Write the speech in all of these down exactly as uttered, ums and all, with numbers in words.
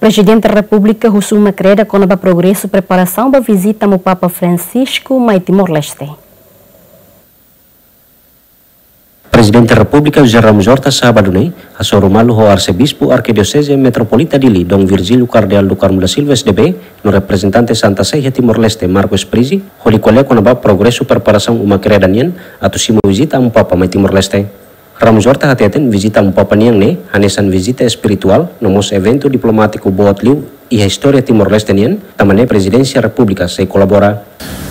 Prezidente Repúblika husu uma-kreda kona-ba progresu preparasaun ba vizita Amu Papa Francisco mai Timor-Leste. Prezidente Repúblika José Ramos Horta sábadu ne'e hasoru malu ho Arsebispu Arkidioseze Metropolita Dili, Dom Virgílio Kardeál do Carmo da Silva S D B, no reprezentante Santa Sé iha Timor-Leste, Marco Sprisi, hodi ko'alia kona-ba progresu preparasaun uma-kreda nian atu simu vizita Amu Papa mai Timor-Leste. Ramos Horta hateten vizita Amu Papa nian ne'e hanesan vizita espirituál no mós eventu diplomátiku boot liu iha istória Timor-Leste nian, tanba ne'e Prezidénsia Repúblika sei kolabora.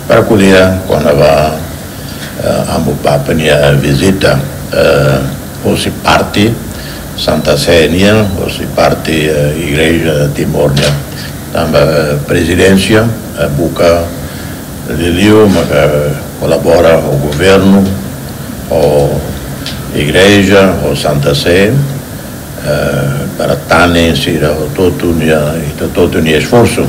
Para ko'alia kona-ba, eh, Amu Papa nia vizita, eh, hosi parte Santa Sé nian, hosi parte, eh, Igreja Timor nian. Tanba, eh, Prezidénsia, eh, buka liuliu maka kolabora ho governu, ho Igreja, ho Santa Sé, eh, para tanen sira hotu-hotu nia, ita hotu-hotu nia esforsu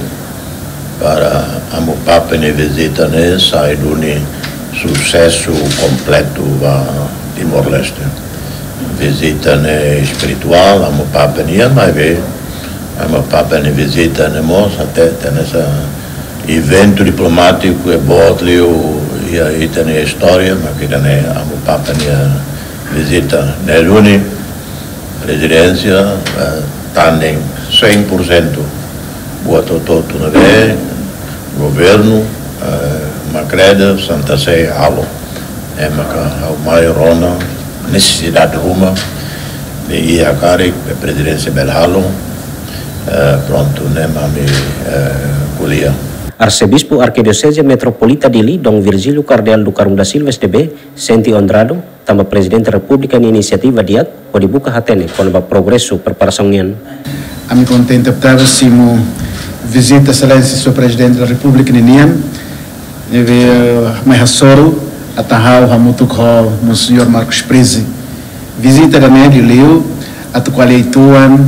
para Amu Papa nia vizita ne'e sai duni susesu kompletu ba Timor-Leste. Vizita ne'e espirituál, Amu Papa nia, maibé Amu Papa nia vizita ne'e mós hateten hanesan eventu diplomátiku boot liu iha ita-nia istória, maka ida-ne'e Amu Papa nia vizita ne'e duni Prezidénsia, eh, tanen cem por cento buat hotu-hotu ne'ebé governu, eh, uma-kreda, Santa Sé halo. Ne'e maka ha'u mai rona nesesidade ruma, ne'e iha karik, Prezidénsia bele halo, eh, prontu, ne'e mak ami, eh, ko'alia. Arsebispu Arkidioseze Metropolita Dili, Dom Virgílio Kardeál do Carmo da Silva S D B, sente onradu tanba Prezidente Repúblika nia inisiativa di'ak hodi buka hatene kona-ba progresu preparasaun nian. Ami kontente tebes simu vizita Exelénsia Señór Prezidente da Repúblika ninian, ne'ebé mai hasoru atu ha'u hamutuk ho Monseñór Marcos Sprisi. Vizita ida-ne'e liuliu atu ko'alia uitoan,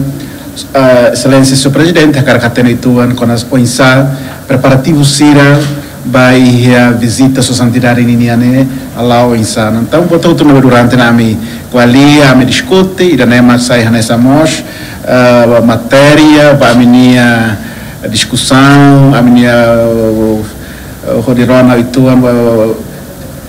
eh, Exelénsia Señór Prezidente hakarak hatene uitoan kona-ba oinsá preparativu sira ba iha vizita Sua Santidade ninian ne'e hala'o oinsá. Entaun, buat hotu ne'ebé durante ne'e ami ko'alia, ami diskute, ida-ne'e mak sai hanesan mós, eh, matéria ba ami-nia diskusaun, ami-nia, eh, hodi rona uitoan, eh,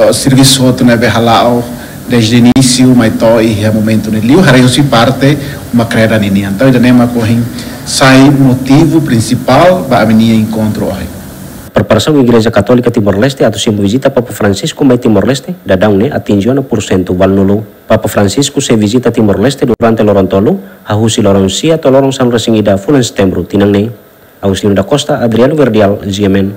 eh, servisu hotu ne'ebé hala'o desde inísiu mai to'o iha momentu ne'e, liuliu haree husi parte uma-kreda ninian. Entaun, ida-ne'e mak ohin sai motivu prinsipál ba ami-nia enkontru ohin. Preparasaun Igreja Katólika Timor-Leste atu simu vizita Papa Francisco mai Timor-Leste daudaun ne'e atinje ona pursentu valunulu. Papa Francisco sei vizita Timor-Leste durante loron tolu, hahú husi loron sia to'o loron sanulu-resin-ida fulan Setembru tinan ne'e. Agostinho da Costa, Adriano Verdial, G M N.